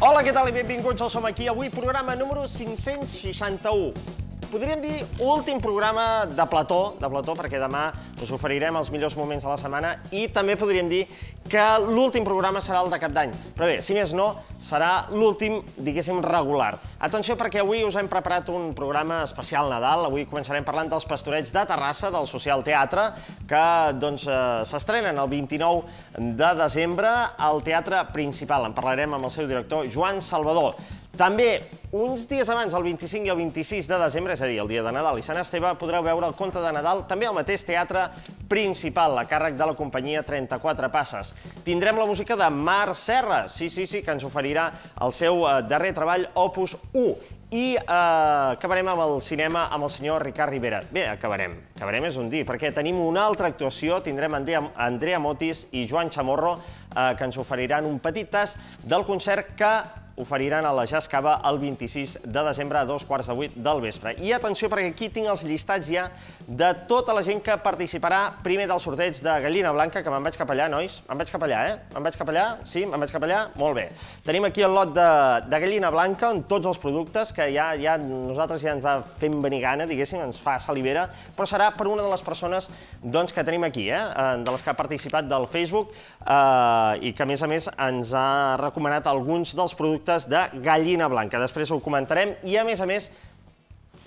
Hola, què tal i benvinguts al Som Aquí. Avui programa número 561. Podríem dir últim programa de plató, perquè demà us oferirem els millors moments de la setmana i també podríem dir que l'últim programa serà el de Cap d'Any. Però bé, si més no, serà l'últim, diguéssim, regular. Atenció, perquè avui us hem preparat un programa especial Nadal. Avui començarem parlant dels Pastorets de Terrassa, del Social Teatre, que s'estrenen el 29 de desembre al Teatre Principal. En parlarem amb el seu director, Joan Salvador. També, uns dies abans, el 25 i el 26 de desembre, és a dir, el dia de Nadal i Sant Esteve, podreu veure el Conte de Nadal també al mateix Teatre Principal, a càrrec de la companyia 34 Passes. Tindrem la música de Marc Serra, sí, que ens oferirà el seu darrer treball, Opus 1. I acabarem amb el cinema amb el senyor Ricard Rivera. Bé, acabarem és un dir, perquè tenim una altra actuació, tindrem Andrea Motis i Joan Chamorro, que ens oferiran un petit tast del concert que oferiran a la Jazz Cava el 26 de desembre a 2:15 del vespre. I atenció, perquè aquí tinc els llistats ja de tota la gent que participarà primer del sorteig de Gallina Blanca, que me'n vaig cap allà, nois. Me'n vaig cap allà, Me'n vaig cap allà? Sí, me'n vaig cap allà? Molt bé. Tenim aquí el lot de Gallina Blanca, on tots els productes, que ja nosaltres ja ens va fent venir gana, diguéssim, ens fa salivera, però serà per una de les persones que tenim aquí, de les que ha participat del Facebook, i que, a més, ens ha recomanat alguns dels productes de Gallina Blanca. Després ho comentarem i, a més,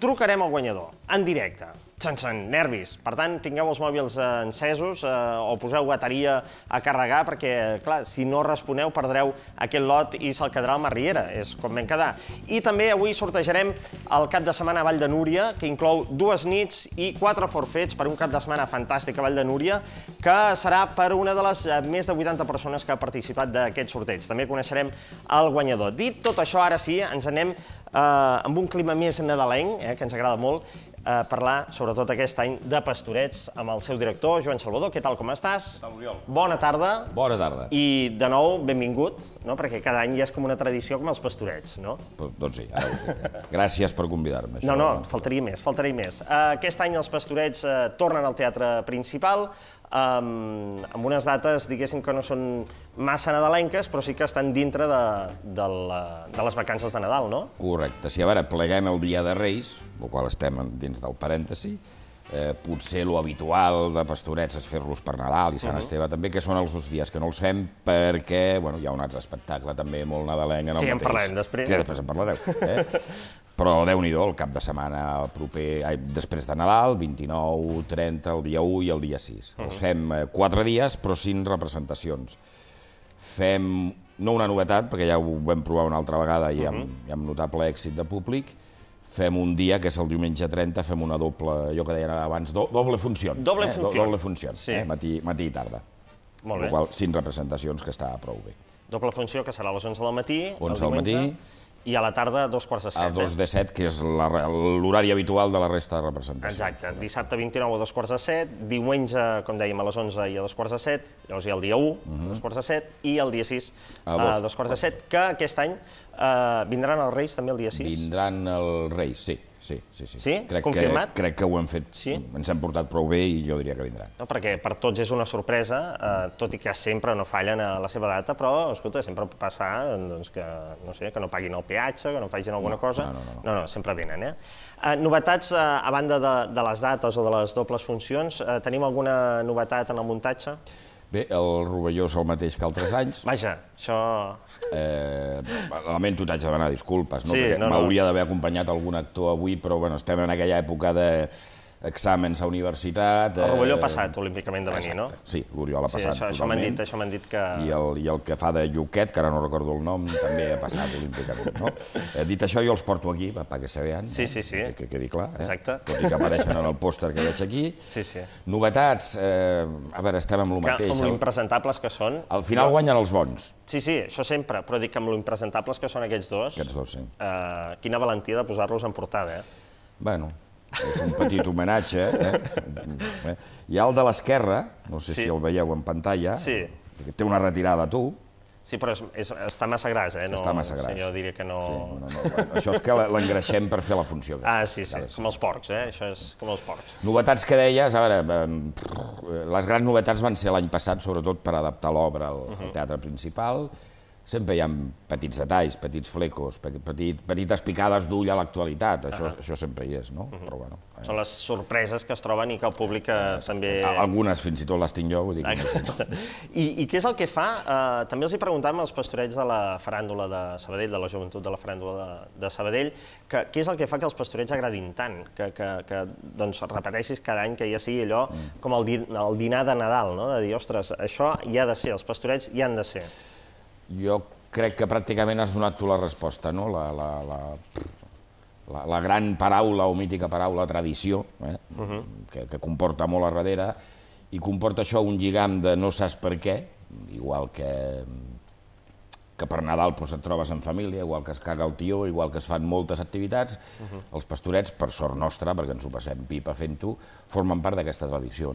trucarem al guanyador, en directe, sense nervis. Per tant, tingueu els mòbils encesos o poseu bateria a carregar, perquè, clar, si no responeu perdreu aquest lot i se'l quedarà al Mar Riera, és com vam quedar. I també avui sortejarem el cap de setmana a Vall de Núria, que inclou 2 nits i 4 forfets per un cap de setmana fantàstic a Vall de Núria, que serà per una de les més de 80 persones que ha participat d'aquest sorteig. També coneixerem el guanyador. Dit tot això, ara sí, ens anem amb un clima més nadalenc, que ens agrada molt, parlar, sobretot aquest any, de Pastorets amb el seu director, Joan Salvador. Què tal, com estàs? Què tal, Oriol? Bona tarda. Bona tarda. I, de nou, benvingut, perquè cada any ja és com una tradició com els Pastorets, no? Doncs sí, ara ho sé. Gràcies per convidar-me. No, faltaria més. Aquest any els Pastorets tornen al Teatre Principal, amb unes dates, diguéssim, que no són massa nadalenques, però sí que estan dintre de les vacances de Nadal, no? Correcte. Si a veure, pleguem el dia de Reis, el qual estem dins del parèntesi, potser lo habitual de Pastorets és fer-los per Nadal i Sant Esteve també, que són els dies que no els fem perquè hi ha un altre espectacle també molt nadalenc en el mateix. Que ja en parlarem després. Que després en parlareu. Però Déu-n'hi-do, el cap de setmana proper, després de Nadal, 29, 30, el dia 1 i el dia 6. Els fem 4 dies, però 5 representacions. Fem, no una novetat, perquè ja ho vam provar una altra vegada i amb notable èxit de públic, fem un dia, que és el diumenge 30, fem una doble, allò que deien abans, doble funció. Doble funció. Matí i tarda. Molt bé. 5 representacions, que està prou bé. Doble funció, que serà a les 11 del matí. 11 del matí. I a la tarda, a 2:15. A 2:17, que és l'horari habitual de la resta de representacions. Exacte. Dissabte 29 a 2:15, diumenge, com dèiem, a les 11 i a 2:15, llavors hi ha el dia 1, a 2:15, i el dia 6 a 2:15, que aquest any vindran els Reis també el dia 6? Vindran els Reis, sí. Sí? Confirmat? Crec que ho hem fet, ens hem portat prou bé i jo diria que vindran. No, perquè per tots és una sorpresa, tot i que sempre no fallen a la seva data, però, escolta, sempre pot passar que no paguin el peatge, que no facin alguna cosa. No, sempre venen, Novetats, a banda de les dates o de les dobles funcions, tenim alguna novetat en el muntatge? Bé, el rovelló és el mateix que altres anys. Vaja, això... Lamento, t'haig de demanar disculpes, perquè m'hauria d'haver acompanyat algun actor avui, però estem en aquella època d'exàmens a universitat... El rovelló ha passat olímpicament de venir, no? Sí, l'Oriol ha passat totalment. Això m'han dit que... I el que fa de Lluquet, que ara no recordo el nom, també ha passat olímpicament, no? Dit això, jo els porto aquí, perquè se vean, que quedi clar, tot i que apareixen en el pòster que veig aquí. Novetats, a veure, estem amb el mateix. Com l'impresentables que són. Al final guanyen els bons. Sí, això sempre, però dic que amb l'impresentables que són aquests dos... Aquests dos, sí. Quina valentia de posar-los en portada, Bueno... És un petit homenatge. Hi ha el de l'esquerra, no sé si el veieu en pantalla, que té una retirada, tu. Sí, però està massa gras, Està massa gras. Jo diria que no... Això és que l'engreixem per fer la funció. Sí, com els porcs, això és com els porcs. Novetats que deies, a veure, les grans novetats van ser l'any passat, sobretot per adaptar l'obra al teatre principal. sempre hi ha petits detalls, petits flecos, petites picades d'ull a l'actualitat, això sempre hi és, no? Però bueno... Són les sorpreses que es troben i que el públic també... Algunes fins i tot les tinc jo, vull dir que... I què és el que fa? També els hi preguntàvem als pastorets de la faràndula de Sabadell, de la joventut de la faràndula de Sabadell, què és el que fa que els pastorets agradin tant, que repeteixis cada any, que ja sigui allò com el dinar de Nadal, no? De dir, ostres, això hi ha de ser, els pastorets hi han de ser. Jo crec que pràcticament has donat tu la resposta, no? La gran paraula o mítica paraula tradició, que comporta molt a darrere, i comporta això un lligam de no saps per què, igual que per Nadal et trobes en família, igual que es caga el tió, igual que es fan moltes activitats, els pastorets, per sort nostra, perquè ens ho passem pipa fent-ho, formen part d'aquesta tradició.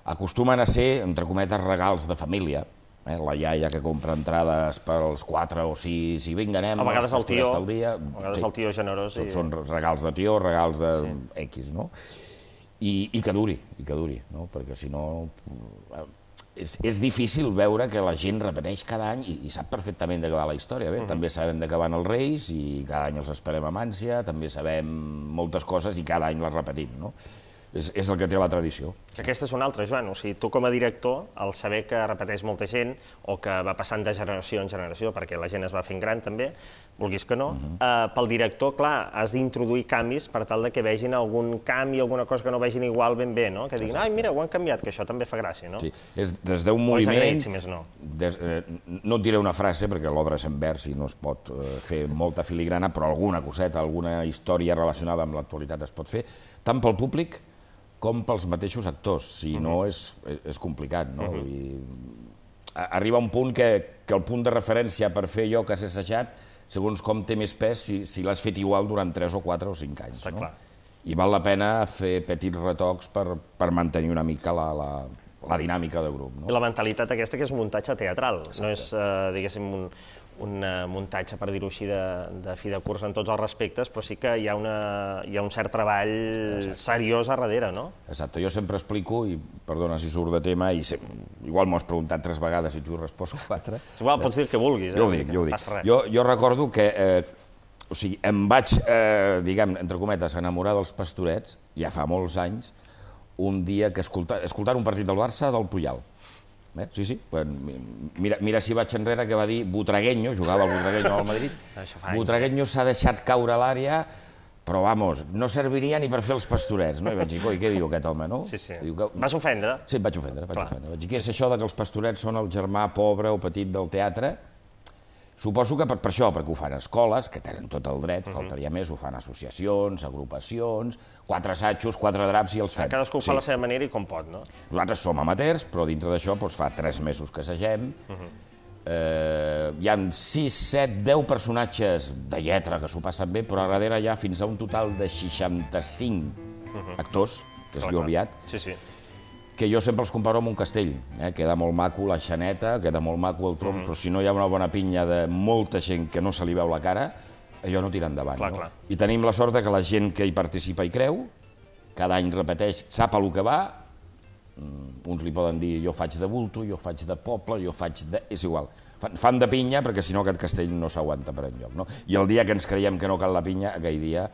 Acostumen a ser, entre cometes, regals de família. La iaia que compra entrades pels 4 o 6 i vinga, anem, els pastorets del dia. A vegades el tió generós. Són regals de tió, regals de X, no? I que duri, no? Perquè si no... És difícil veure que la gent repeteix cada any i sap perfectament de què va la història. També sabem de què van els Reis i cada any els esperem amb ànsia, també sabem moltes coses i cada any les repetim, no? És el que té la tradició. Que aquesta és una altra, Joan. O sigui, tu com a director, al saber que repeteix molta gent o que va passant de generació en generació, perquè la gent es va fent gran també, vulguis que no, pel director, clar, has d'introduir canvis per tal que vegin algun canvi, alguna cosa que no vegin igual ben bé, no? Que diguin, ai, mira, ho han canviat, que això també fa gràcia, no? Sí, des d'un moviment... O és agraït, si més no. No et diré una frase, perquè l'obra és en vers i no es pot fer molta filigrana, però alguna coseta, alguna història relacionada amb l'actualitat es pot fer, tant pel públic com pels mateixos actors, si no és complicat, no? Arriba un punt que el punt de referència per fer allò que has assajat, segons com té més pes si l'has fet igual durant 3 o 4 o 5 anys. Està clar. I val la pena fer petits retocs per mantenir una mica la dinàmica del grup. I la mentalitat aquesta que és un muntatge teatral, no és, diguéssim, un muntatge, per dir-ho així, de fi de curs en tots els respectes, però sí que hi ha un cert treball seriós a darrere, no? Exacte, jo sempre explico, i perdona si surt de tema, i igual m'ho has preguntat 3 vegades i tu he respost 4. Igual pots dir el que vulguis, jo ho dic. Jo recordo que, o sigui, em vaig, diguem, entre cometes, enamorar dels pastorets, ja fa molts anys, un dia que escoltant un partit del Barça del Puyal. Sí. Mira si vaig enrere que va dir Butragueño, jugava el Butragueño al Madrid. Butragueño s'ha deixat caure a l'àrea, però, vamos, no serviria ni per fer els pastorets. I vaig dir, coi, què diu aquest home, no? Sí. Vas ofendre? Sí, vaig ofendre. Vaig dir, què és això que els pastorets són el germà pobre o petit del teatre? Suposo que per això, perquè ho fan escoles, que tenen tot el dret, faltaria més, ho fan associacions, agrupacions, 4 assajos, 4 draps i els fem. Cadascú ho fa a la seva manera i com pot, no? Nosaltres som amateurs, però dintre d'això fa 3 mesos que assagem. Hi ha 6, 7, 10 personatges de lletra que s'ho passen bé, però a darrere hi ha fins a un total de 65 actors, que es diu aviat, que jo sempre els comparo amb un castell. Queda molt maco la xaneta, queda molt maco el tronc, però si no hi ha una bona pinya de molta gent que no se li veu la cara, allò no tira endavant. I tenim la sort que la gent que hi participa i creu, cada any repeteix, sap a lo que va, uns li poden dir jo faig de bulto, jo faig de poble, jo faig de... és igual. Fan de pinya perquè si no aquest castell no s'aguanta per enlloc. I el dia que ens creiem que no cal la pinya, aquell dia,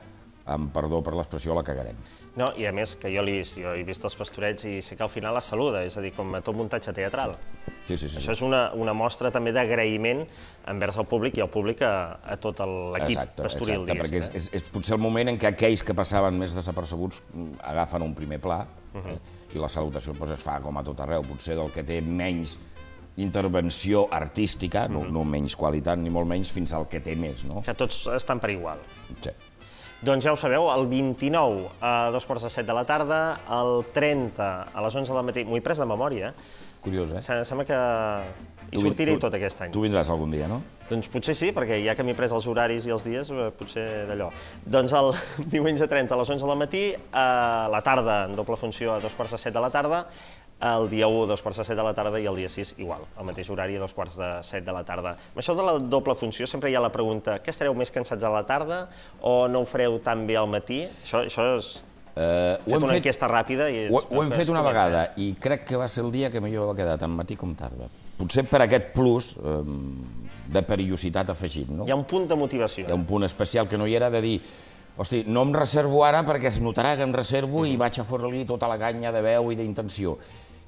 amb perdó per l'expressió, la cagarem. No, i a més, que jo he vist els pastorets i sé que al final es saluda, és a dir, com a tot muntatge teatral. Sí. Això és una mostra també d'agraïment envers el públic i el públic a tot l'equip pastoril, diguéssim. Perquè és potser el moment en què aquells que passaven més desapercebuts agafen un primer pla i la salutació es fa com a tot arreu, potser del que té menys intervenció artística, no menys qualitat ni molt menys, fins al que té més, no? Que tots estan per igual. Sí. Doncs ja ho sabeu, el 29 a 2:45 de la tarda, el 30 a les 11 del matí, m'ho he pres de memòria. Curiós, Sembla que hi sortiré tot aquest any. Tu vindràs algun dia, no? Doncs potser sí, perquè ja que m'he pres els horaris i els dies, potser d'allò. Doncs el diumenge 30 a les 11 del matí, a la tarda, en doble funció a 2:45 de la tarda, el dia 1 a 2:45 de la tarda i el dia 6 igual, al mateix horari a 2:45 de la tarda. Amb això de la doble funció sempre hi ha la pregunta, què estareu més cansats a la tarda o no ho fareu tan bé al matí? Això és... Fet una enquesta ràpida i... Ho hem fet una vegada i crec que va ser el dia que millor va quedar, tant matí com tarda. Potser per aquest plus de perillositat afegit, no? Hi ha un punt de motivació. Hi ha un punt especial que no hi era de dir hosti, no em reservo ara perquè es notarà que em reservo i vaig a fora-li tota la canya de veu i d'intenció.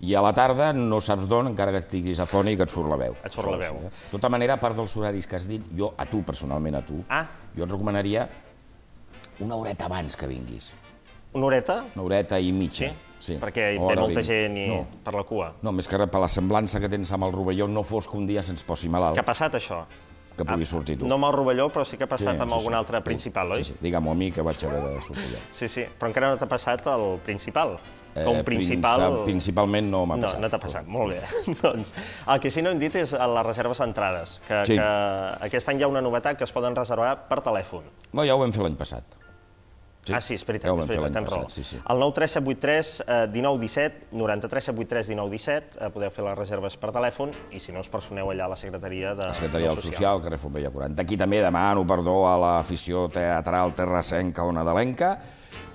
I a la tarda no saps d'on, encara que estiguis afònic, et surt la veu. Et surt la veu. De tota manera, a part dels horaris que has dit, jo, a tu, personalment a tu, jo et recomanaria una horeta abans que vinguis. Una horeta? Una horeta i mitja. Sí? Perquè hi ve molta gent per la cua. No, més que res per la semblança que tens amb el rovelló, no fos que un dia se'ns posi malalt. Què ha passat, això? Que pugui sortir tu. No amb el rovelló, però sí que ha passat amb algun altre principal, oi? Sí, digue-m'ho a mi, que vaig haver de sortir jo. Sí, però encara no t'ha passat el principal. Com principal... Principalment no m'ha passat. No t'ha passat, molt bé. Doncs el que sí no hem dit és les reserves centrades, que aquest any hi ha una novetat que es poden reservar per telèfon. Ja ho vam fer l'any passat. Ah, sí, és veritat, tens raó. El 93783 1917, 93783 1917, podeu fer les reserves per telèfon i si no us personeu allà a la secretaria del Social, carrer Fontbella 40. Aquí també demano perdó a l'afició teatral terrassenca o nadalenca,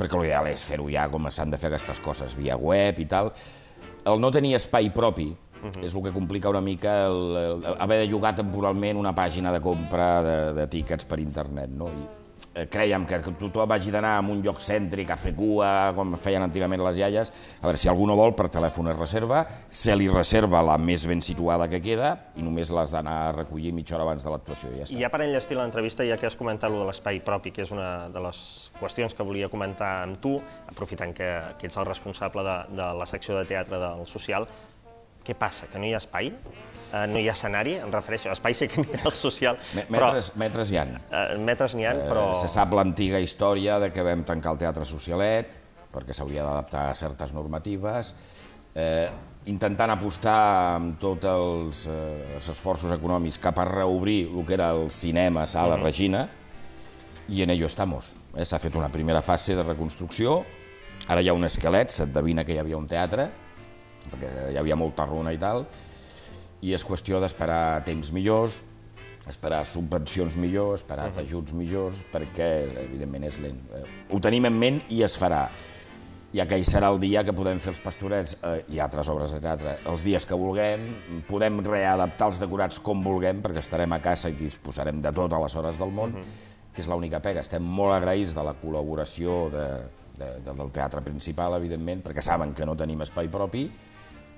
perquè l'ideal és fer-ho ja com s'han de fer aquestes coses, via web i tal. El no tenir espai propi és el que complica una mica haver de llogar temporalment una pàgina de compra de tíquets per internet, no? Crèiem que tothom hagi d'anar a un lloc cèntric a fer cua, com feien antigament les iaies. A veure, si algú no vol, per telèfon es reserva, se li reserva la més ben situada que queda i només l'has d'anar a recollir mitja hora abans de l'actuació i ja està. I ja per enllestir l'entrevista, ja que has comentat allò de l'espai propi, que és una de les qüestions que volia comentar amb tu, aprofitant que ets el responsable de la secció de teatre del Social, què passa? Que no hi ha espai? No hi ha escenari? Em refereixo, espai sí que n'hi ha al Social, però... Metres n'hi ha. Metres n'hi ha, però... Se sap l'antiga història de que vam tancar el Teatre Socialet, perquè s'hauria d'adaptar a certes normatives, intentant apostar amb tots els esforços econòmics cap a reobrir el que era el cinema Sala Regina, i en ello estamos. S'ha fet una primera fase de reconstrucció, ara hi ha un esquelet, s'endevina que hi havia un teatre, perquè hi havia molta runa i tal, i és qüestió d'esperar temps millors, esperar subvencions millors, esperar ajuts millors, perquè, evidentment, és lent. Ho tenim en ment i es farà. Ja que hi serà el dia que podem fer els Pastorets i altres obres de teatre els dies que vulguem, podem readaptar els decorats com vulguem, perquè estarem a casa i disposarem de tot a les hores del món, que és l'única pega. Estem molt agraïts de la col·laboració del teatre principal, evidentment, perquè saben que no tenim espai propi,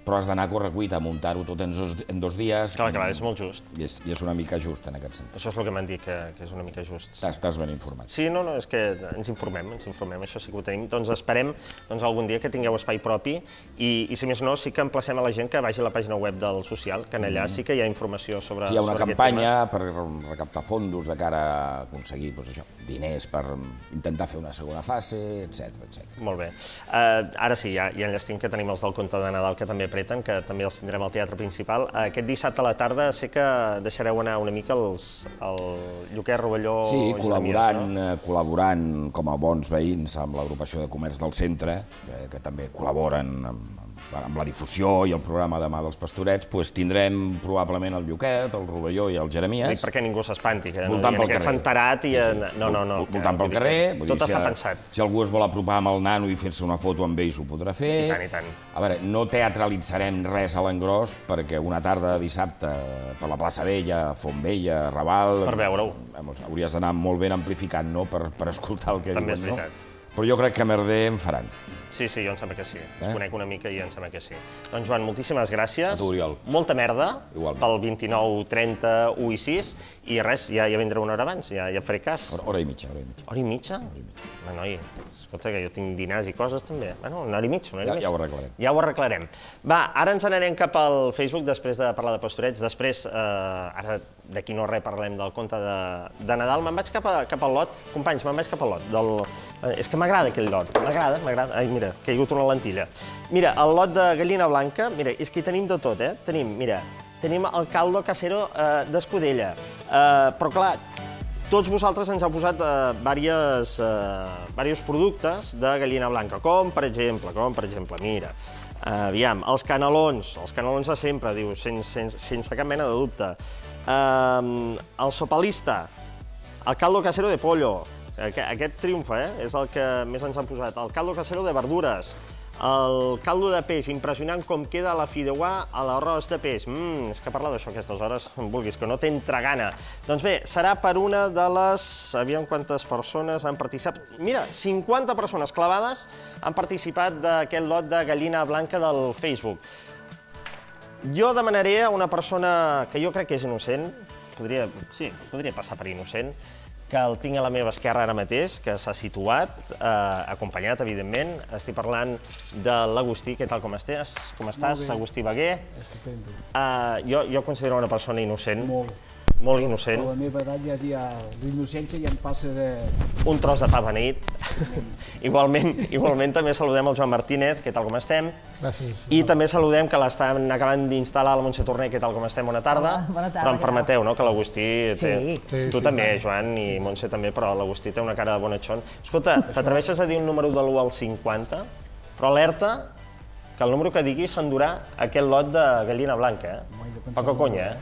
però has d'anar a correcuita, a muntar-ho tot en 2 dies. Clar, és molt just. I és una mica just, en aquest sentit. Això és el que m'han dit, que és una mica just. Estàs ben informat. Sí, no, és que ens informem, això sí que ho tenim. Doncs esperem algun dia que tingueu espai propi i si més no, sí que emplacem a la gent que vagi a la pàgina web del Social, que en allà sí que hi ha informació sobre aquest tema. Hi ha una campanya per recaptar fondos de cara a aconseguir diners per intentar fer una segona fase, etc. Molt bé. Ara sí, ja enllestim que tenim els del conte de Nadal que també apreten, que també els tindrem al Teatre Principal. Aquest dissabte a la tarda sé que deixareu anar una mica el Lluquet, Rovelló... Sí, col·laborant com a bons veïns amb l'agrupació de comerç del centre, que també col·laboren amb la difusió i el programa Demà dels Pastorets, tindrem probablement el Lluquet, el Rovelló i el Jeremies. Dic perquè ningú s'espanti, que aquest s'ha enterat i... No. Voltant pel carrer. Tot està pensat. Si algú es vol apropar amb el nano i fer-se una foto amb ells, ho podrà fer. I tant. A veure, no teatralitzarem res a l'engròs, perquè una tarda de dissabte per la plaça Vella, Fontvella, Raval... Per veure-ho. Hauries d'anar molt ben amplificat, no?, per escoltar el que diuen, no? També és veritat. Però jo crec que merder en faran. Sí, jo em sembla que sí. Es conec una mica i em sembla que sí. Doncs, Joan, moltíssimes gràcies. A tu, Oriol. Molta merda. Igualment. Pel 29, 30, 1 i 6. I res, ja vindré una hora abans, ja faré cas. Hora i mitja. Hora i mitja? Noi, escolta, que jo tinc dinars i coses, també. Bueno, una hora i mitja. Ja ho arreglarem. Ja ho arreglarem. Va, ara ens n'anem cap al Facebook, després de parlar de Pastorets. Després, ara d'aquí no res, parlem del conte de Nadal. Me'n vaig cap al lot. Companys, me'n vaig cap al lot. És que m'agrada aquell lot. M'agrada. Ai, mira, que hi ha hagut una lentilla. Mira, el lot de gallina blanca, mira, és que hi tenim de tot, Tenim el caldo casero d'Escudella. Però, clar, tots vosaltres ens heu posat diversos productes de gallina blanca, com per exemple, mira, aviam, els canelons de sempre, diu, sense cap mena de dubte. El sopalista, el caldo casero de pollo, aquest triomfa, és el que més ens han posat. El caldo casero de verdures, El caldo de peix, impressionant com queda la fideuà a l'arròs de peix. És que parlar d'això a aquestes hores, on vulguis, que no t'entra gana. Doncs bé, serà per una de les... Aviam quantes persones han participat. Mira, 50 persones clavades han participat d'aquest lot de gallina blanca del Facebook. Jo demanaré a una persona que jo crec que és innocent, podria passar per innocent, que el tinc a la meva esquerra ara mateix, que s'ha situat, acompanyat, evidentment. Estic parlant de l'Agustí. Què tal, com estàs? Agustí Baguer? Estupendo. Jo considero una persona innocent. Molt innocent. A la meva edat ja l'innocència ja em passa de... Un tros de pa beneït. Igualment també saludem el Joan Martínez. Què tal, com estem? Gràcies. I també saludem que l'estan acabant d'instal·lar la Montse Torner. Què tal, com estem? Bona tarda. Bona tarda. Però em permeteu, no?, que l'Agustí... Sí. Tu també, Joan, i Montse també, però l'Agustí té una cara de bonatxon. Escolta, t'atreveixes a dir un número de l'1 al 50? Però alerta que el número que diguis s'endurà aquest lot de gallina blanca, Poca conya,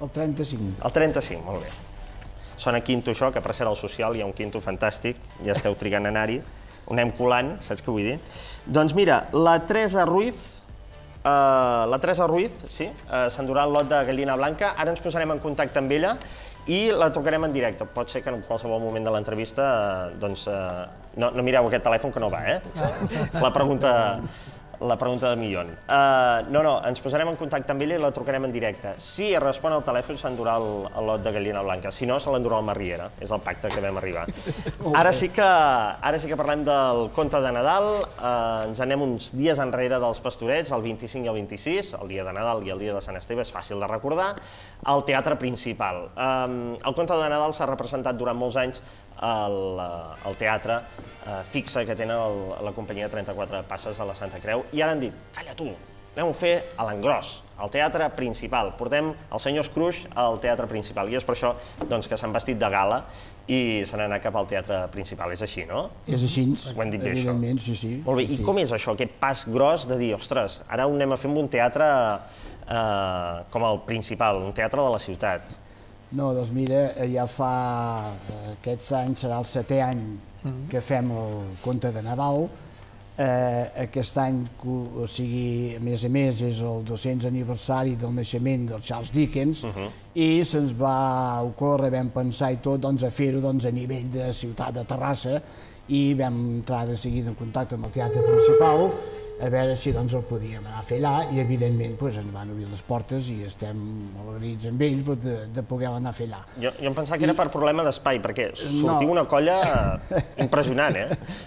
El 35. El 35, molt bé. Sona quinto això, que per ser al social hi ha un quinto fantàstic, ja esteu trigant a anar-hi, ho anem colant, saps què vull dir? Doncs mira, la Teresa Ruiz, sí, s'endurà el lot de gallina blanca, ara ens posarem en contacte amb ella i la trucarem en directe. Pot ser que en qualsevol moment de l'entrevista, doncs, no mireu aquest telèfon que no va, La pregunta de milió. No, ens posarem en contacte amb ella i la trucarem en directe. Si respon al telèfon, s'endurà el lot de gallina blanca. Si no, se l'endurà el Marriera. És el pacte que vam arribar. Ara sí que parlem del conte de Nadal. Ens anem uns dies enrere dels Pastorets, el 25 i el 26, el dia de Nadal i el dia de Sant Esteve, és fàcil de recordar, al Teatre Principal. El conte de Nadal s'ha representat durant molts anys al teatre fixa que tenen la companyia 34 Passes a la Santa Creu, i ara han dit, calla tu, anem a fer a l'engròs, al Teatre Principal. Portem els senyors Cruix al Teatre Principal, i és per això que s'han vestit de gala i se n'han anat cap al Teatre Principal. És així, no? És així, ho hem dit bé, això. Evidentment, sí. Molt bé, i com és això, aquest pas gros de dir, ostres, ara ho anem a fer amb un teatre com el Principal, un teatre de la ciutat? No, doncs mira, ja fa... Aquests anys serà el 7è any que fem el conte de Nadal. Aquest any, o sigui, a més, és el 200 aniversari del naixement del Charles Dickens, i se'ns va ocórrer, vam pensar i tot, a fer-ho a nivell de ciutat de Terrassa, i vam entrar de seguida en contacte amb el Teatre Principal, a veure si el podíem anar a fer allà, i evidentment ens van obrir les portes i estem alegrits amb ells de poder anar a fer allà. Jo em pensava que era per problema d'espai, perquè sortiu una colla impressionant,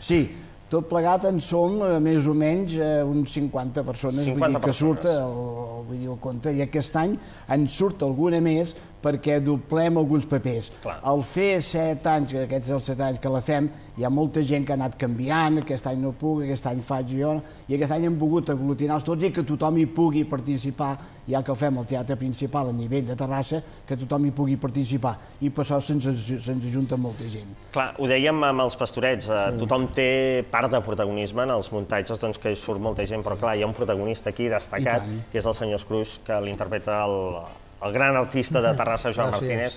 Sí, tot plegat en som més o menys uns 50 persones, vull dir que surt el videoconte, i aquest any en surt alguna més perquè doblem alguns papers. Al fer 7 anys, aquests els 7 anys que la fem, hi ha molta gent que ha anat canviant, aquest any no puc, aquest any faig jo, i aquest any hem pogut aglutinar-los tots i que tothom hi pugui participar, ja que el fem al Teatre Principal a nivell de Terrassa, que tothom hi pugui participar, i per això se'ns ajunta molta gent. Clar, ho dèiem amb els Pastorets, tothom té part de protagonisme en els muntatges, doncs que hi surt molta gent, però clar, hi ha un protagonista aquí destacat, que és el senyor Cruix, que l'interpreta el gran artista de Terrassa, Joan Martínez,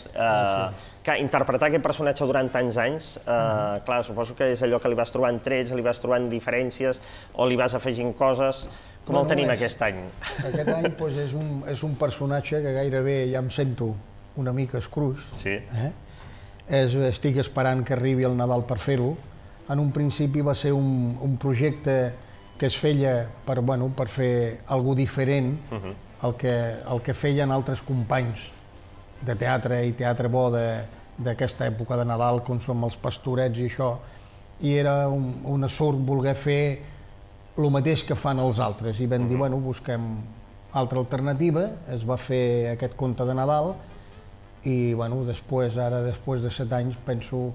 que interpretar aquest personatge durant tants anys, clar, suposo que és allò que li vas trobant trets, li vas trobant diferències, o li vas afegint coses. Com el tenim aquest any? Aquest any és un personatge que gairebé ja em sento una mica Scrooge. Sí. Estic esperant que arribi el Nadal per fer-ho. En un principi va ser un projecte que es feia per fer alguna cosa diferent el que feien altres companys de teatre i teatre bo d'aquesta època de Nadal, com som els Pastorets i això, i era una sort voler fer el mateix que fan els altres, i vam dir, busquem altra alternativa, es va fer aquest conte de Nadal, i després de 7 anys penso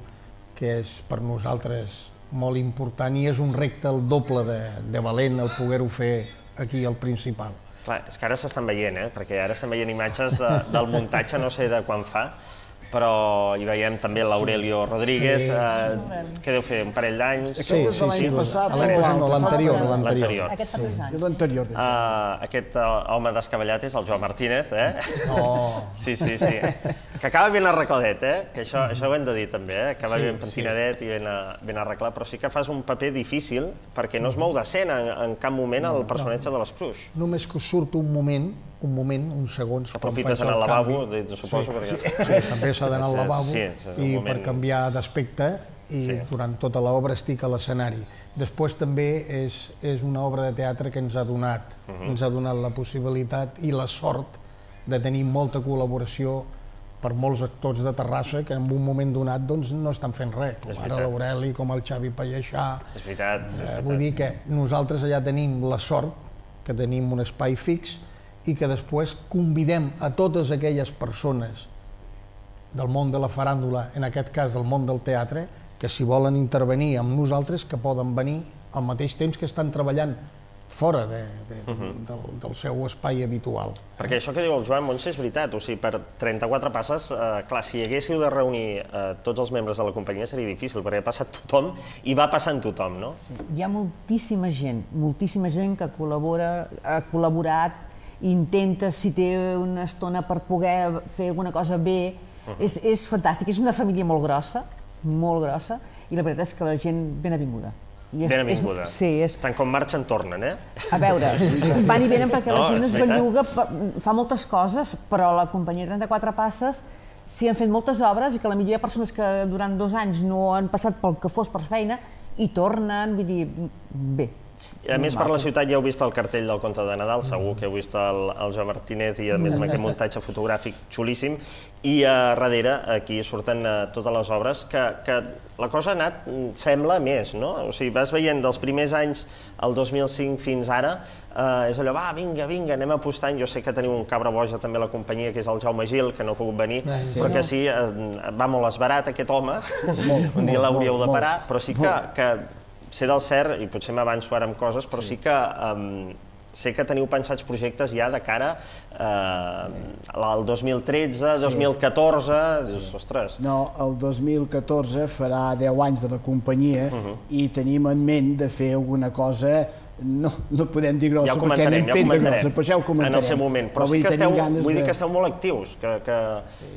que és per nosaltres molt important i és un repte el doble de valent el poder-ho fer aquí al Principal. Clar, és que ara s'estan veient, perquè ara estem veient imatges del muntatge, no sé de quan fa, però hi veiem també l'Aurelio Rodríguez, que deu fer un parell d'anys. Sí, l'any passat. L'anterior. Aquest fa 3 anys. L'anterior. Aquest home descabellat és el Joan Martínez, Oh. Sí. que acaba ben arregladet, que això ho hem de dir també, acaba ben pentinadet i ben arreglat, però sí que fas un paper difícil perquè no es mou d'escena en cap moment el personatge de l'Escruix. Només que us surt un moment, uns segons... Aprofites anar al lavabo, suposo, perquè... Sí, també s'ha d'anar al lavabo i per canviar d'aspecte, i durant tota l'obra estic a l'escenari. Després també és una obra de teatre que ens ha donat la possibilitat i la sort de tenir molta col·laboració per molts actors de Terrassa que en un moment donat no estan fent res, com ara l'Aureli, com el Xavi Palleixà. És veritat. Vull dir que nosaltres allà tenim la sort que tenim un espai fix i que després convidem a totes aquelles persones del món de la faràndula, en aquest cas del món del teatre, que si volen intervenir amb nosaltres, que poden venir al mateix temps que estan treballant fora del seu espai habitual. Perquè això que diu el Joan Montse és veritat, o sigui, per 34 passes, clar, si haguéssiu de reunir tots els membres de la companyia seria difícil, perquè ha passat tothom i va passant tothom, no? Hi ha moltíssima gent que col·labora, ha col·laborat, intenta, si té una estona per poder fer alguna cosa bé, és fantàstic, és una família molt grossa, i la veritat és que la gent ben avinguda. Ben avinguda. Sí. Tant com marxen, tornen, A veure, van i venen perquè la gent es belluga, fa moltes coses, però la companyia 34 Passes s'hi han fet moltes obres i que potser hi ha persones que durant 2 anys no han passat pel que fos per feina i tornen, vull dir, bé. I a més, per la ciutat ja heu vist el cartell del Conte de Nadal, segur que heu vist el Joan Martínez i a més amb aquest muntatge fotogràfic xulíssim, i a darrere aquí surten totes les obres, que la cosa ha anat, sembla, més, no? O sigui, vas veient dels primers anys, el 2005 fins ara, és allò, va, vinga, anem apostant. Jo sé que teniu un cabra boja també a la companyia, que és el Jaume Gil, que no ha pogut venir, però que sí, va molt esbarat aquest home, un dia l'hauríeu de parar, però sí que sé del cert, i potser m'avanço ara amb coses, però sí que sé que teniu pensats projectes ja de cara al 2013, 2014, dius, ostres... No, el 2014 farà 10 anys de la companyia i tenim en ment de fer alguna cosa, no podem dir grossa perquè anem fent de grossa, però ja ho comentarem. En el seu moment, però sí que vull dir que esteu molt actius, que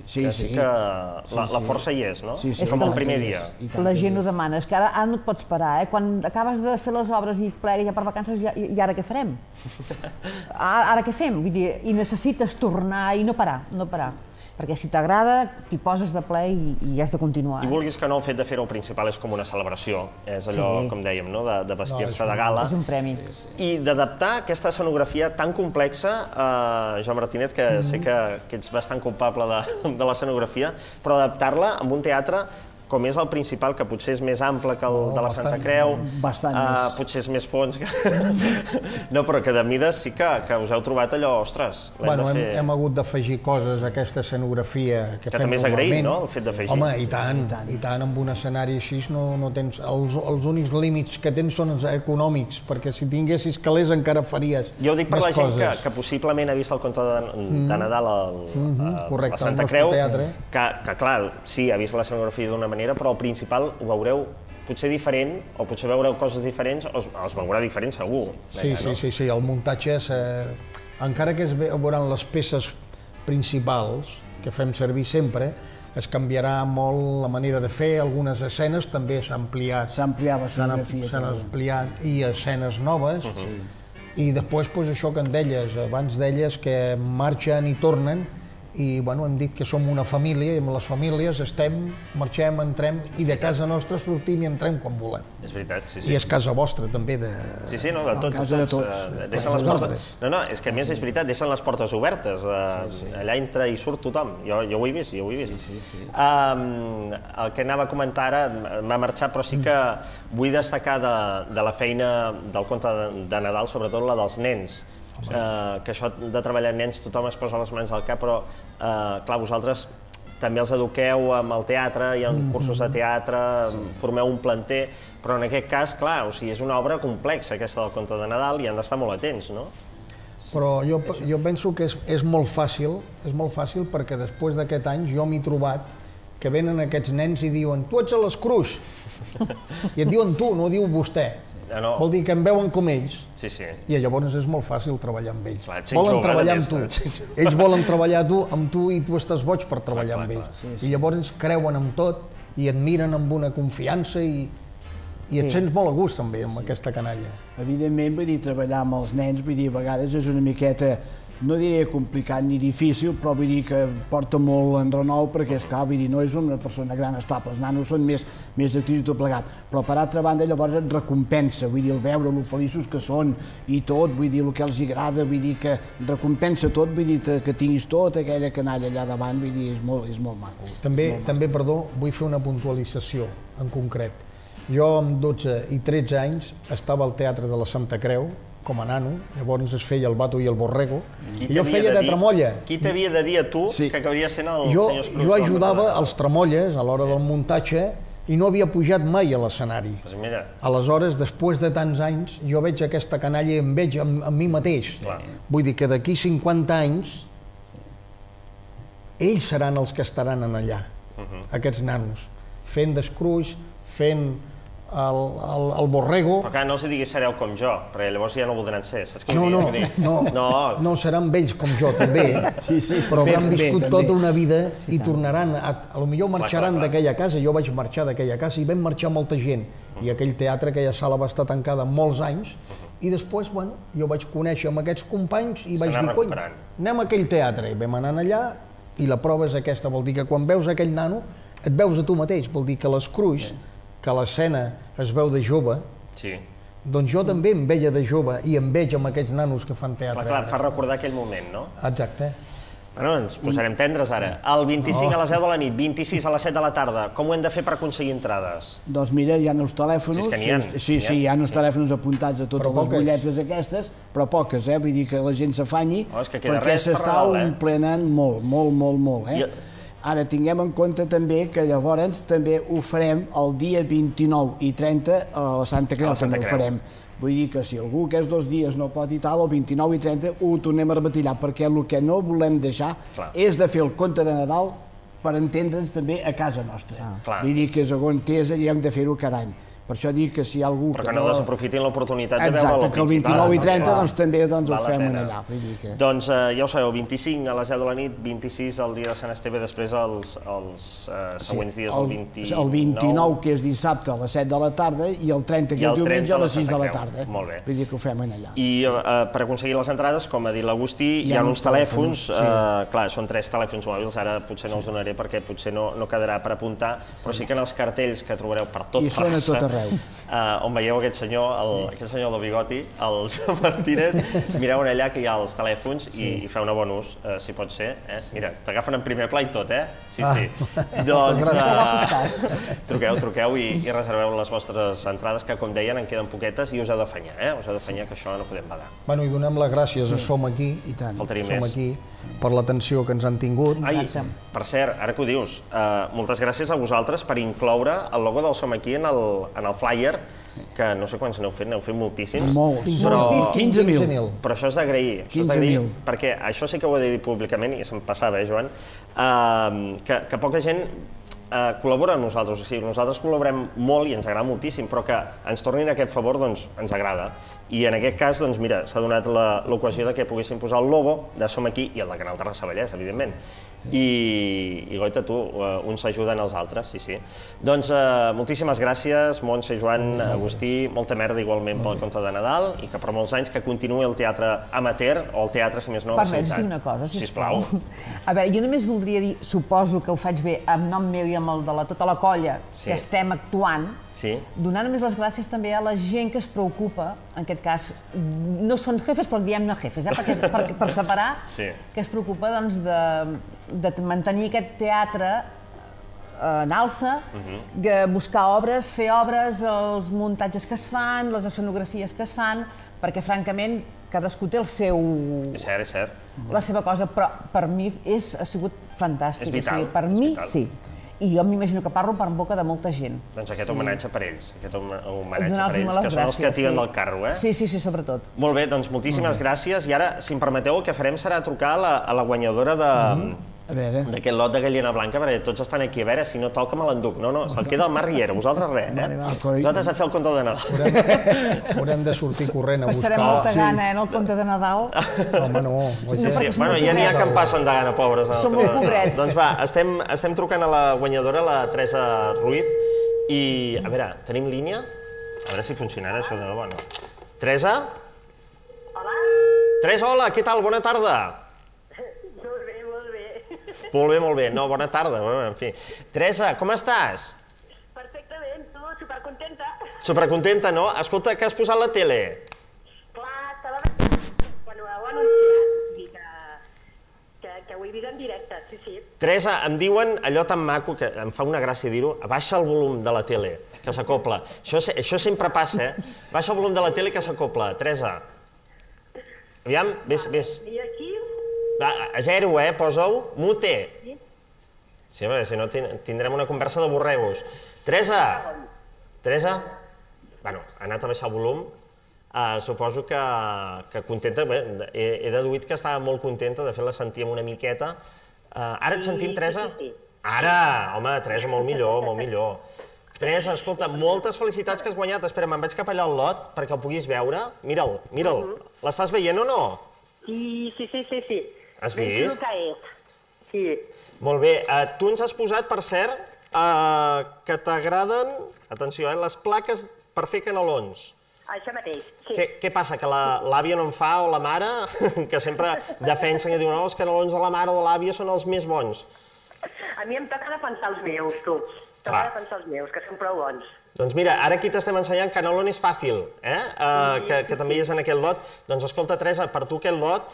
sí que la força hi és, no? Com el primer dia. La gent ho demana, és que ara no et pots parar, quan acabes de fer les obres i plegues ja per vacances, i ara què farem? Ara què fem? Vull dir, i necessites tornar i no parar, perquè si t'agrada, t'hi poses de ple i has de continuar. I vulguis que no, el fet de fer-ho principal és com una celebració, és allò, com dèiem, de vestir-se de gala. És un premi. I d'adaptar aquesta escenografia tan complexa, Joan Martínez, que sé que ets bastant culpable de l'escenografia, però adaptar-la amb un teatre com és el principal, que potser és més ample que el de la Santa Creu, potser és més fons, no, però que de mides sí que us heu trobat allò, ostres, l'hem de fer... Hem hagut d'afegir coses a aquesta escenografia que fem normalment. Que també és agraït, no?, el fet d'afegir. Home, i tant, amb un escenari així no tens... Els únics límits que tens són els econòmics, perquè si tinguessis calés encara faries més coses. Jo ho dic per la gent que possiblement ha vist el Conte de Nadal a Santa Creu, que clar, sí, ha vist l'escenografia d'una manera, però el principal ho veureu potser diferent, o potser veureu coses diferents, o es veurà diferent segur. Sí, el muntatge, encara que es veuran les peces principals, que fem servir sempre, es canviarà molt la manera de fer, algunes escenes també s'han ampliat. S'ha ampliat l'escenografia. S'han ampliat i escenes noves, i després això que en deies, abans deies que marxen i tornen, i hem dit que som una família i amb les famílies estem, marxem, entrem i de casa nostra sortim i entrem quan volem. És veritat, sí. I és casa vostra també. Sí, no, de tots. Casa de tots. Deixen les portes... No, és que a més és veritat, deixen les portes obertes, allà entra i surt tothom. Jo ho he vist, El que anava a comentar ara m'ha marxat, però sí que vull destacar de la feina del Conte de Nadal, sobretot la dels nens. Que això de treballar amb nens tothom es posa les mans al cap, però clar, vosaltres també els eduqueu amb el teatre, hi ha cursos de teatre, formeu un planter, però en aquest cas, clar, és una obra complexa aquesta del Conte de Nadal i han d'estar molt atents, no? Però jo penso que és molt fàcil perquè després d'aquest any jo m'he trobat que venen aquests nens i diuen tu ets a l'Escruix, I et diuen tu, no diu vostè. No. Vol dir que em veuen com ells. Sí, sí. I llavors és molt fàcil treballar amb ells. Clar, ets Volen jove, treballar a amb tu. més, Ells volen treballar amb tu i tu estàs boig per treballar amb ells. I llavors creuen en tot i et miren amb una confiança i et sents molt a gust també amb aquesta canalla. Evidentment, vull dir, treballar amb els nens, vull dir, a vegades és una miqueta, no diré complicat ni difícil, però vull dir que porta molt en renou perquè, esclar, vull dir, no és una persona gran estable, els nanos són més actius i tot plegat, però per altra banda llavors et recompensa, vull dir, el veure lo feliços que són i tot, vull dir, el que els agrada, vull dir, que recompensa tot, vull dir, que tinguis tota aquella canalla allà davant, vull dir, és molt maco. També, perdó, vull fer una puntualització en concret. Jo amb 12 i 13 anys estava al Teatre de la Santa Creu, com a nano, llavors es feia el Bato i el Borrego, i jo feia de tramolla. Qui t'havia de dir a tu que acabaria sent el senyor Escrús? Jo ajudava els tramolles a l'hora del muntatge i no havia pujat mai a l'escenari. Pues mira. Aleshores, després de tants anys, jo veig aquesta canalla i em veig amb mi mateix. Vull dir que d'aquí 50 anys ells seran els que estaran allà, aquests nanos, fent d'Escrús, fent el Borrego. Però clar, no els diguis sereu com jo, perquè llavors ja no voldran ser, saps què vull dir? No, seran vells com jo també, però han viscut tota una vida i tornaran, potser marxaran d'aquella casa. Jo vaig marxar d'aquella casa i vam marxar molta gent, i aquell teatre, aquella sala va estar tancada molts anys, i després, bueno, jo vaig conèixer amb aquests companys i vaig dir, cony, anem a aquell teatre, i vam anar allà, i la prova és aquesta, vol dir que quan veus aquell nano et veus a tu mateix, vol dir que l'Escrús, que l'escena es veu de jove, doncs jo també em veia de jove i em veig amb aquests nanos que fan teatre. Clar, fa recordar aquell moment, no? Exacte. Bueno, ens posarem tendres ara. El 25 a les 10 de la nit, 26 a les 7 de la tarda, com ho hem de fer per aconseguir entrades? Doncs mira, hi ha uns telèfons, hi ha uns telèfons apuntats a totes les butlletes aquestes, però poques, vull dir que la gent s'afanyi, perquè s'està omplenant molt, Ara, tinguem en compte també que llavors també ho farem el dia 29 i 30 a la Santa Creu, també ho farem. Vull dir que si algú aquests 2 dies no pot i tal, el 29 i 30 ho tornem a repetir, perquè el que no volem deixar és de fer el conte de Nadal per entendre'ns també a casa nostra. Vull dir que és on és i hem de fer-ho cada any. Per això dic que si hi ha algú que no desaprofitin l'oportunitat de veure el principal. Exacte, que el 29 i 30 doncs també ho fem allà. Doncs ja ho sabeu, 25 a les 10 de la nit, 26 el dia de Sant Esteve, després els següents dies, el 29... El 29, que és dissabte, a les 7 de la tarda, i el 30, que és diumenge, a les 6 de la tarda. Molt bé. Vull dir que ho fem allà. I per aconseguir les entrades, com ha dit l'Agustí, hi ha uns telèfons, clar, són 3 telèfons mòbils, ara potser no els donaré perquè potser no quedarà per apuntar, però sí que en els cartells que trobareu per tot Terrassa, on veieu aquest senyor del bigoti, el Joan Martínez, mireu allà que hi ha els telèfons i feu un bon ús, si pot ser. Mira, t'agafen en primer pla i tot, Sí. Doncs truqueu i reserveu les vostres entrades, que com deien en queden poquetes i us heu d'afanyar, us heu d'afanyar, que això no podem badar. Bueno, i donem les gràcies a Som Aquí, per l'atenció que ens han tingut. Ai, per cert, ara que ho dius, moltes gràcies a vosaltres per incloure el logo del Som Aquí en el flyer, que no sé quants n'heu fet moltíssims. Molts, 15.000. Però això és d'agrair, perquè això sí que ho he de dir públicament, i se'm passava, Joan, que poca gent col·labora amb nosaltres, o sigui, nosaltres col·laborem molt i ens agrada moltíssim, però que ens tornin aquest favor, doncs ens agrada. I en aquest cas, doncs mira, s'ha donat l'ocasió que poguéssim posar el logo de Som Aquí i el de Canal Terrassa Vallès, evidentment. I goita, tu, uns ajuden els altres, sí. Doncs moltíssimes gràcies, Montse, Joan, Agustí, molta merda igualment pel conte de Nadal i que per molts anys que continuï el teatre amateur, o el teatre, si més no, a la ciutat. Permets dir una cosa, sisplau? A veure, jo només voldria dir, suposo que ho faig bé amb nom meu i amb el de tota la colla que estem actuant, donar només les gràcies també a la gent que es preocupa, en aquest cas, no són jefes, però diem-ne jefes, per separar, que es preocupa de mantenir aquest teatre en alça, buscar obres, fer obres, els muntatges que es fan, les escenografies que es fan, perquè francament cadascú té el seu... És cert. La seva cosa, però per mi ha sigut fantàstic. És vital. Per mi, sí. I jo m'imagino que parlo per boca de molta gent. Doncs aquest homenatge per ells, que són els que tiren del carro, Sí, sobretot. Molt bé, doncs moltíssimes gràcies. I ara, si em permeteu, el que farem serà trucar a la guanyadora A veure. d'aquest lot de gallina blanca, perquè tots estan aquí, a veure, si no toca me l'enduc. No, se'l queda el Marc Riera, vosaltres res, Vosaltres a fer el conte de Nadal. Haurem de sortir corrent a buscar. Passarem molta gana, en el conte de Nadal. Home, no. Bueno, ja n'hi ha que en passen de gana, pobres. Som molt pobrets. Doncs va, estem trucant a la guanyadora, la Teresa Ruiz, i, a veure, tenim línia? A veure si funcionarà això de debò, no? Teresa? Hola. Teresa, hola, què tal? Bona tarda. Molt bé, molt bé. Molt bé. No, bona tarda, en fi. Teresa, com estàs? Perfectament, tu, supercontenta. Supercontenta, no? Escolta, que has posat la tele? Clar, estava quan ho heu anunciat, i que ho he vist en directe, sí. Teresa, em diuen allò tan maco, que em fa una gràcia dir-ho, baixa el volum de la tele, que s'acopla. Això sempre passa, Baixa el volum de la tele que s'acopla. Teresa. Aviam, vés. I aquí? Va, a 0, posa-ho. Mute. Sí, perquè si no tindrem una conversa de borregos. Teresa. Bueno, ha anat a baixar el volum. Suposo que contenta. Bé, he deduït que estava molt contenta, de fet la sentíem una miqueta. Ara et sentim, Teresa? Ara! Home, Teresa, molt millor. Teresa, escolta, moltes felicitats que has guanyat. Espera, me'n vaig cap allà al lot perquè el puguis veure. Mira'l. L'estàs veient o no? Sí. Has vist? Que és. Sí. Molt bé. Tu ens has posat, per cert, que t'agraden, atenció, les plaques per fer canelons. Això mateix, sí. Què passa, que l'àvia no en fa, o la mare, que sempre defensen i diuen no, els canelons de la mare o de l'àvia són els més bons? A mi em toca defensar els meus, tu. Toca defensar els meus, que són prou bons. Doncs mira, ara aquí t'estem ensenyant canelones fàcil, que també hi és en aquest lot. Doncs escolta, Teresa, per tu aquest lot,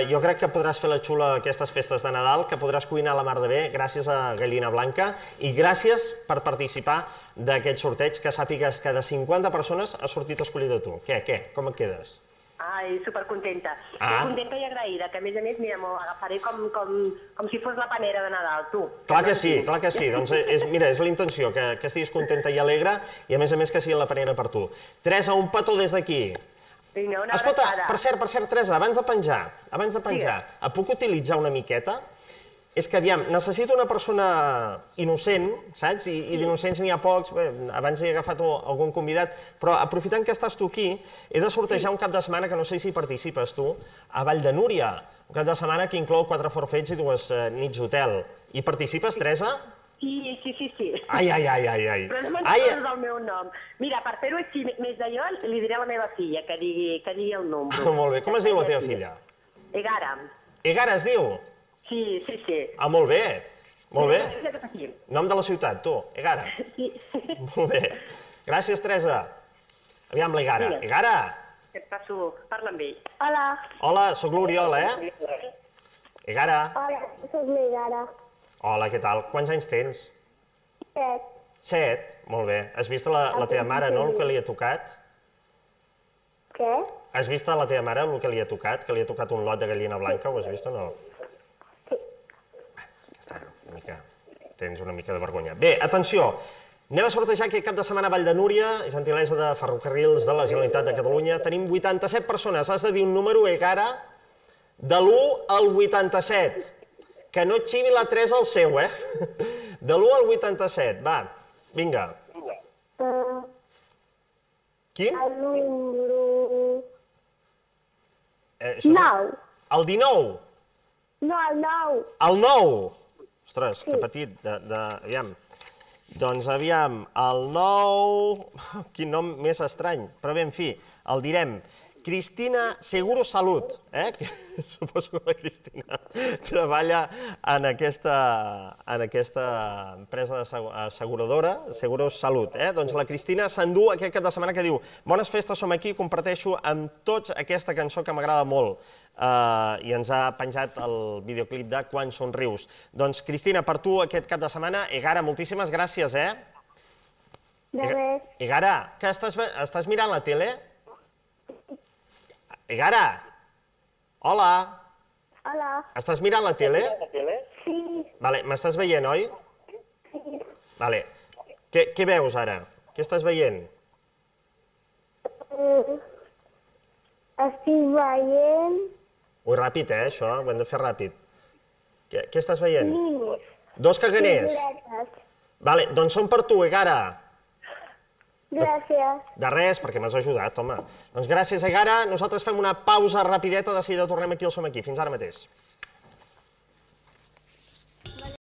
jo crec que podràs fer la xula aquestes festes de Nadal, que podràs cuinar a la mar de bé gràcies a Gallina Blanca, i gràcies per participar d'aquest sorteig, que sàpigues que de 50 persones has sortit escollida tu. Què? Com et quedes? Ai, supercontenta. Contenta i agraïda, que a més, mira, m'ho agafaré com si fos la panera de Nadal, tu. Clar que sí. Doncs mira, és la intenció, que estiguis contenta i alegre, i a més que sigui la panera per tu. Teresa, un petó des d'aquí. Vinga, una Escolta, abraçada. per cert, Teresa, abans de penjar, et puc utilitzar una miqueta? És que, aviam, necessito una persona innocent, saps? I d'innocents n'hi ha pocs, abans he agafat algun convidat, però aprofitant que estàs tu aquí, he de sortejar un cap de setmana, que no sé si participes tu, a Vall de Núria, un cap de setmana que inclou 4 forfets i 2 nits d'hotel. Hi participes, Teresa? Sí. Ai. Però no me'n del meu nom. Mira, per fer-ho així més d'allò, li diré a la meva filla que digui el número. Molt bé. Com es diu la teva filla? Egara. Egara es diu? Sí. Molt bé. Sí. Nom de la ciutat, tu, Egara. Sí. Molt bé. Gràcies, Teresa. Aviam l'Egara. Egara! Et passo, parla amb ell. Hola, sóc l'Oriol, Egara. Hola, soc l'Egara. Hola, què tal? Quants anys tens? 7. 7? Molt bé. Has vist la teva mare, no, el que li ha tocat? Què? Has vist a la teva mare el que li ha tocat? Que li ha tocat un lot de gallina blanca, ho has vist o no? Tens una mica de vergonya. Bé, atenció, anem a sortejar aquest cap de setmana a Vall de Núria, gentilesa de Ferrocarrils de la Generalitat de Catalunya. Tenim 87 persones, has de dir un número, Egara, de l'1 al 87. Que no et xivi la 3 al seu, De l'1 al 87, va, vinga. Quin? El número... 9. El 19? No, el 9. El 9? Ostres, que petit, aviam. Doncs aviam, el 9... Quin nom més estrany, però bé, en fi, el direm. Cristina Seguro Salut, que suposo que la Cristina treballa en aquesta empresa asseguradora, Seguros Salut. Doncs la Cristina s'endú aquest cap de setmana que diu bones festes, som aquí, comparteixo amb tots aquesta cançó que m'agrada molt. I ens ha penjat el videoclip de Quan somrius. Doncs, Cristina, per tu aquest cap de setmana, Egara, moltíssimes gràcies, De res. Egara, que estàs mirant la tele? Egara! Hola! Hola. Estàs mirant la tele? Sí. Vale, m'estàs veient, oi? Sí. Vale. Què veus ara? Què estàs veient? Estic veient... Ui, ràpid, això, ho hem de fer ràpid. Què estàs veient? Ninis. 2 caganers. Floretes. Vale, doncs són per tu, Egara. Gràcies. De res, perquè m'has ajudat, home. Doncs gràcies, Egara. Nosaltres fem una pausa rapideta, de seguida tornem aquí al Som Aquí. Fins ara mateix.